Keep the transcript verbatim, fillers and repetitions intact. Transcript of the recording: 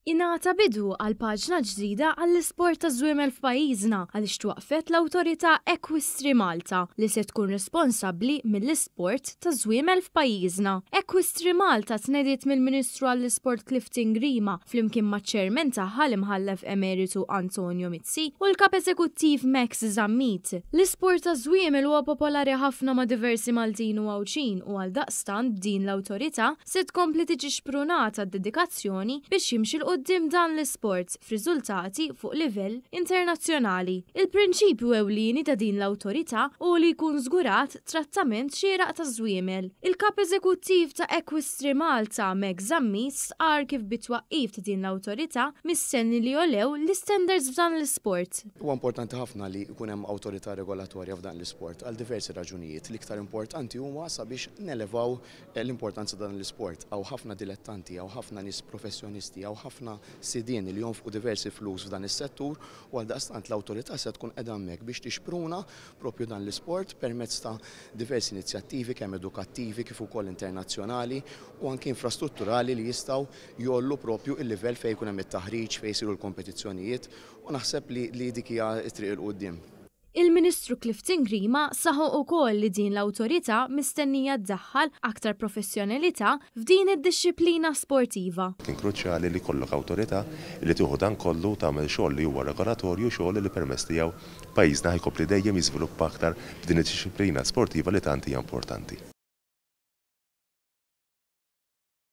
Ingħata bidu għal paġna ġdida għall-isport taż-żwiemel f'pajjiżna għaliex twaqqfet l-Awtorità Equistri Malta li se tkun responsabbli mill-isport taż-żwiemel f'pajjiżna. Equistri Malta tnediet mill-Ministru għall-Isport Clifton Grima flimkien maċ-Chairman tagħha, l-Imħallef Emeritu Antonio Mizzi, u l-Kap Eżekuttiv Max Zammit. L-isport taż-żwiemel huwa popolari ħafna ma' diversi Maltin u Għawdxin u għaldaqstant din l-awtorità se tkompli tiġi xprunata d-dedikazzjoni biex jimxi 'l quddiem dan l-isport f'riżultati fuq livell internazzjonali. Il-prinċipju ewlieni ta' din l-awtorità hu li jkun żgurat trattament xieraq ta' żwiemel. Il-Kap Eżekuttiv ta' Equistri Malta, Max Zammit, stqarr kif bit-twaqqif ta' din l-awtorità mistenni li jogħlew l-istandards f'dan l-isport. Huwa importanti ħafna li jkun hemm awtorità regolatorja f'dan l-isport għal diversi raġunijiet. L-iktar importanti huma sabiex nelevaw l-importanza dan l-isport. Hawn ħafna dilettanti, hawn ħafna nies professjonisti, hawn ħafna sidien li jonfqu diversi flus f'dan is-settur u għaldaqstant l-awtorità se tkun qiegħda hemmhekk biex tixpruna propju dan l-isport permezz ta' diversi inizjattivi, kemm edukattivi kif ukoll internazzjonali u anke infrastrutturali, li jistgħu jgħollu propju il-livell fejn jkun hemm it-taħriġ, fejn jsiru l-kompetizzjonijiet, u naħseb li, li dik hija t-triq 'il quddiem. Il-Ministru Clifton Grima saħaq ukoll li din l-awtorità mistennija ddaħħal aktar professjonalità f'din id-dixxiplina sportiva. Kien kruċjali li jkollok awtorità li tieħu dan kollu, tagħmel xogħol li huwa regolatorju, xogħol li permezz tiegħu pajjiżna ħa jkompli dejjem jiżviluppa aktar f'din id-dixxiplina sportiva li tant hija importanti.